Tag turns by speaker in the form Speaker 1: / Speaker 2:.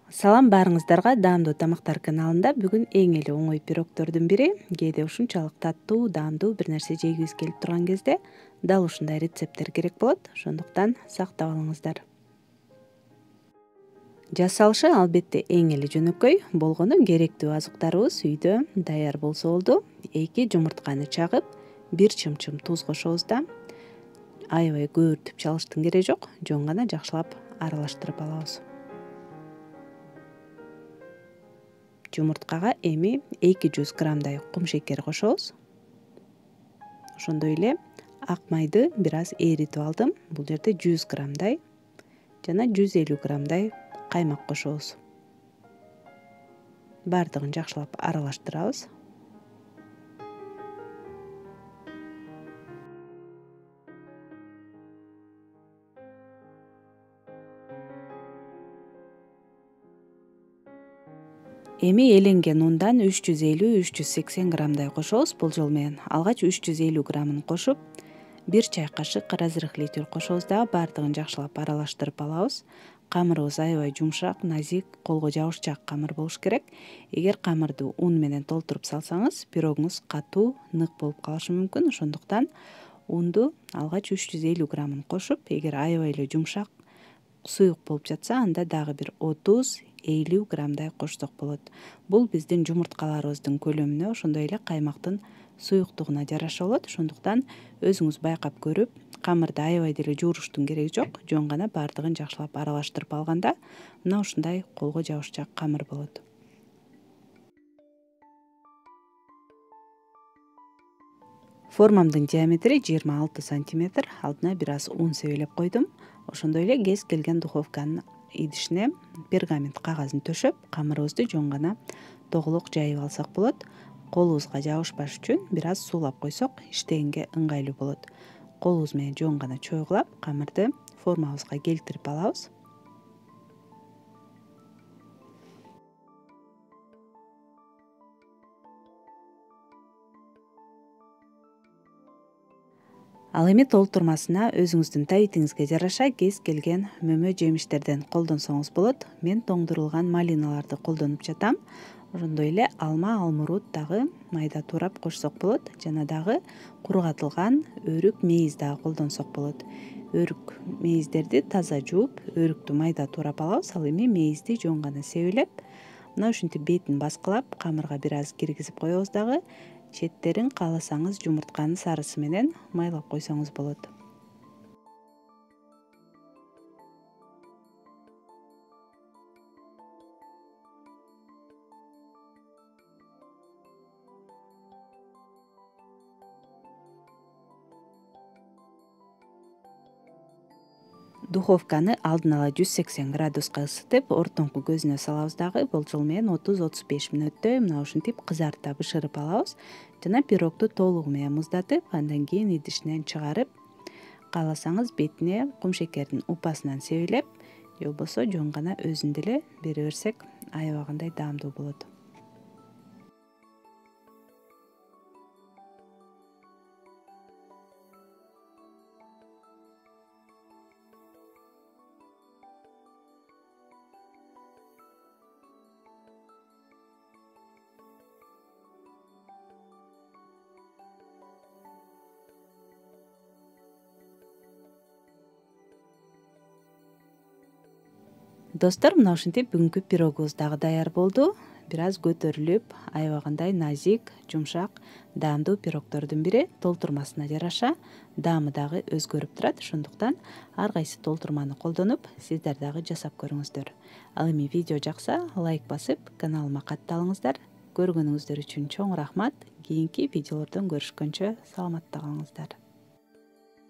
Speaker 1: Салам баарыңыздарга, даамдуу тамактар каналында бүгүн эң эле оңой пирогтордун бири, кээде ушунчалык таттуу, даамдуу бир нерсе жегибиз келип турган кезде дал ушундай рецепттер керек болот. Ошондуктан сактап алыңыздар. Жасалышы албетте эң эле жөнөкөй, болгону керектүү азыктарыбыз үйдө даяр болсо болду. 2 жумуртканы чагып, 1 чымчым туз кошобуз да. Аябай көбүртүп чалыштын кереги жок, жөн гана жакшылап аралаштырып алабыз. Жумурткага эми 200 граммдай кум шекер кошобуз. Ошондой эле ак майды бир аз эритип алдым. Бул жерде 100 граммдай жана 150 граммдай каймак кошобуз. Бардыгын жакшылап аралаштырабыз. Эми эленген ундан 350-380 граммдай кошобуз. Бул жолу менен алгач 350 граммын кошуп, 1 чай кашык разрыхлитель кошобуз дагы бардыгын жакшылап аралаштырып алабыз. Камырыбыз аябай жумшак, назик, колго жабышчаак камыр болуш керек. Эгер камырды ун менен толтуруп салсаңыз, пирогуңуз катуу, нык болуп калышы мүмкүн. Ошондуктан унду алгач 350 граммын кошуп, эгер аябай эле жумшак, суюк болуп жатса, анда дагы бир 30-50 граммдай кошсок болот. Бул биздин жумурткаларыбыздын көлөмүнө, ошондой эле каймактын суюктугуна жараша болот. Ошондуктан өзүңүз байкап көрүп, камырды аябай деле жууруштун кереги жок. Жөн гана бардыгын жакшылап аралаштырып алганда, мына ушундай колго жабышчаак камыр болот. Формамдын диаметри 26 сантиметр. Алдына бир аз ун себелеп койдум. Ошондой эле кез келген духовканын идишине пергамент кагазын төшөп, камырыбызды жөн гана тоголок жайып алсак болот. Колубузга жабышпаш үчүн бир аз суулап койсок, иштегенге ыңгайлуу болот. Колубуз менен жөн гана чойгулап, камырды формабызга келтирип алабыз. Ал эми толтурмасына өзүңүздүн табитиңизге жараша кез келген мөмө жемиштерден колдонсоңуз болот. Мен тоңдурулган малиналарды колдонуп жатам. Ошондой эле алма, алмурут дагы майда туурап кошсок болот. Жана дагы кургатылган өрүк, мейиз дагы колдонсок болот. Өрүк, мейиздерди таза жууп, өрүктү майда туурап алабыз. Ал эми мейизди жөн гана себелеп, мына ушинтип бетин баскылап, камырга бир аз киргизип коебуз дагы. Четтерин кааласаңыз жумуртканын сарысы менен майлап койсоңуз болот. Духовканы алдын ала 180 градуска ысытып, ортоңку көзүнө салабыз дагы. Болжол менен 30-35 мүнөттөй мына ушинтип кызарта бышырып алабыз. Жана пирогду толугу менен муздатып, андан кийин идишинен чыгарып, кааласаңыз бетине кум шекердин упасынан себелеп, же болбосо жөн гана өзүн деле бере берсек, аябагандай даамдуу болот. Достор, мына ушинтип бүгүнкү пирогубуз дагы даяр болду. Бир аз көтөрүлүп, аябагандай назик, жумшак, даамдуу пирогтордун бири. Толтурмасына жараша даамы дагы өзгөрүп турат. Ошондуктан ар кайсы толтурманы колдонуп, сиздер дагы жасап көрүңүздөр. Ал эми видео жакса, лайк басып, каналыма катталыңыздар. Көргөнүңүздөр үчүн чоң рахмат. Кийинки видеолордон көрүшкөнчө саламатта калыңыздар.